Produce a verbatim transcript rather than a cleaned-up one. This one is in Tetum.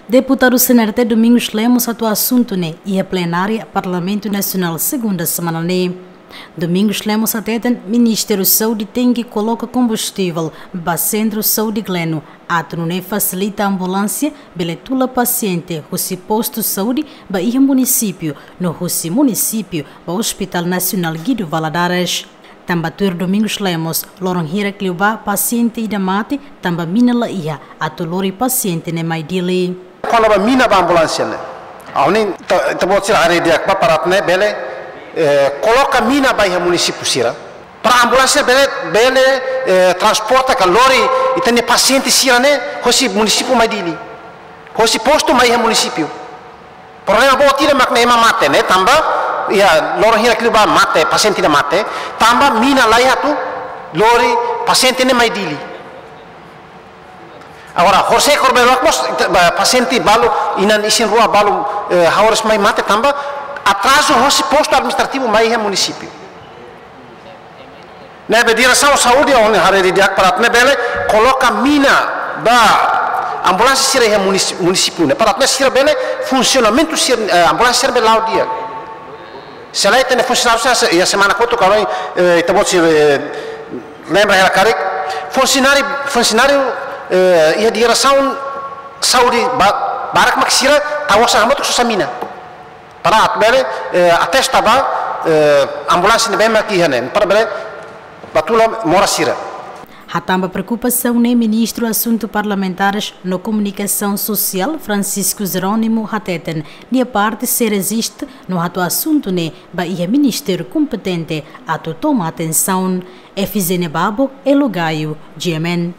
Deputadu C N R T Domingos Lemos hato'o asuntu ne'e iha plenária Parlamentu Nasionál segunda semana ne'e. Domingos Lemos hateten Ministériu Saúde tenke koloka kombustivel ba Sentru Saúde Gleno, atu nune'e fasilita ambulánsia bele tula pasiente husi postu saúde ba iha munisípiu, no husi munisípiu ba Hospital Nasionál Guido Valadares. Tanba tuir Domingos Lemos, loron hirak liubá pasiente ida mate tanba mina la iha atu lori pasiente ne'e mai Dili. Kona-ba mina ba ambulánsia ne'e, ha'u hanoin ita-boot sira haree di'ak ba para atu nune'e bele, eh, koloka mina ba iha munisípiu sira, para ambulánsia bele, bele, eh, transporta ka lori ita-nia pasiente sira ne'e hosi munisípiu mai Dili, hosi postu mai iha munisípiu. Problema boot ida mak ne'e ema mate ne'e tanba, iha loron hirak liubá mate, pasiente ida mate tanba mina la iha atu lori pasiente ne'e mai Dili. Agora, horisehik problema mós, ba, pasiente balu, inan isin-rua balu, eh, haoras mai mate tanba atrazu hosi postu administrativu mai iha munisípiu. Ne'ebé diresaun saúde, ha'u hanoin haree di'ak para atu nune'e bele koloka mina ba ambulánsia sira iha munis-, munisípiu ne'e, para atu nune'e sira bele funsionamentu sira, eh, ambulánsia sira bele la'o di'ak. Se lae, ita-nia funsionáriu sira, iha semana kotuk ha'u hanoin, eh, ita-boot sira, eh, lembra hela karik, funsionáriu, funsionáriu, eh, iha diresaun saúde ba-, barak mak sira tau osan hamutuk sosa mina para atu bele, eh, atesta ba, eh, ambulánsia ne'ebé mak iha ne'e, para bele bá tula moras sira. Hatán ba preokupasaun ne'e, Ministru Asuntu Parlamentares no Komunikasaun Sosiál, Francisco Jerónimo, hateten nia parte sei reziste no hato'o asuntu ne'e ba iha ministériu kompetente atu toma atensaun. Efizénia Babo, Elo Gaio, G M N.